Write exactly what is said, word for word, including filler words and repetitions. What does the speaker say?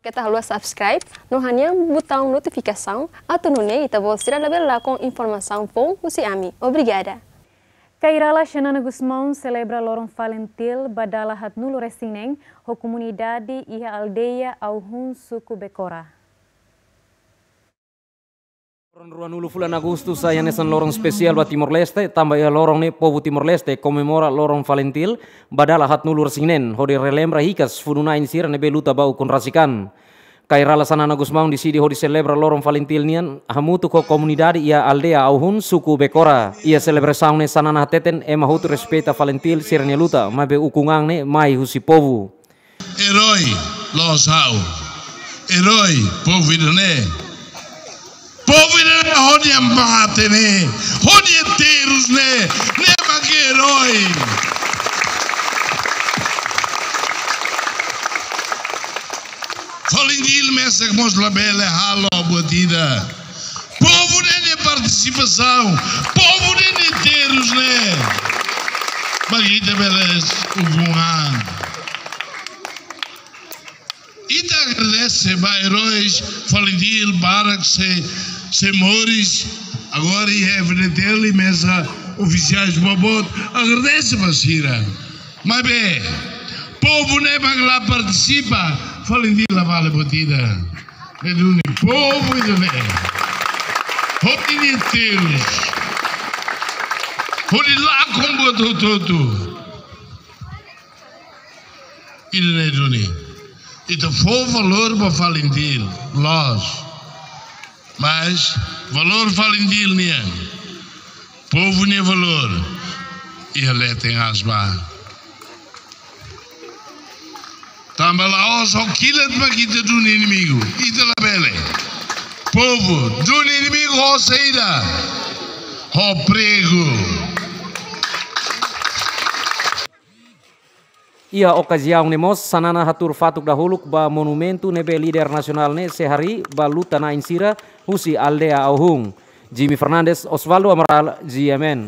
Keta haluha subscribe no hanehan butaun notifikasaun, atu nune'e ita-boot sira labele lakon informasaun foun husi ami. Obrigada. Kay rala Xanana Gusmão selebra loron FALINTIL ba dala haatnulu-resin-neen ho komunidade iha aldeia Auhun, suku Becora. Loron ruanulu fulan Agostu sai hanesan loron espesiál ba Timor-Leste, tanba iha loron ne'e povu Timor-Leste komemora loron FALINTIL ba dala haatnulu-resin-neen, hodi relembra hikas funu-na'in sira ne'ebé luta ba ukun rasik an. Kay rala Xanana Gusmão deside hodi selebra loron FALINTIL nian hamutuk ho komunidade iha aldeia Auhun, suku Becora. Iha selebrasaun ne'e Xanana hateten ema hotu respeita FALINTIL sira-nia luta, maibé ukun an ne'e mai husi povu. Erói, la'ós ha'u. Erói, povu ida-ne'e. Povu ida-ne'e hodi mate ne'e, hodi terus ne'e, ne'e mak erói. FALINTIL mesak mós labele halo buat ida. Povu ne'e nia partisipasaun, povu ne'e nia terus ne'e mak ita bele ukun an. Ita agradese ba eróis FALINTIL barak sei, sei moris, agora iha F-FDTL mesak ofisiais boboot, agradese ba sira. Maibé povu ne'e mak la partisipa, FALINTIL la vale buat ida. Ne'e duni povu ida-ne'e hodi nia terus, hodi lakon buat hotu-hotu. Ida-ne'e duni. Ita fó valór ba FALINTIL, loos. Mas valór FALINTIL nian, povu nia valór, iha leten aas ba. Tanba la'ós ho kilat mak ita duni inimigu, ita labele. Povu duni inimigu ho saida? Ho pregu. Iha okaziaun ne'e mós, Xanana hatuur fatuk dahuluk ba monumentu ne'ebé líder nasionál ne'e sei harii ba luta-na'in sira husi aldeia Auhun. Jimmy Fernandes, Osvaldo Amaral, G M N.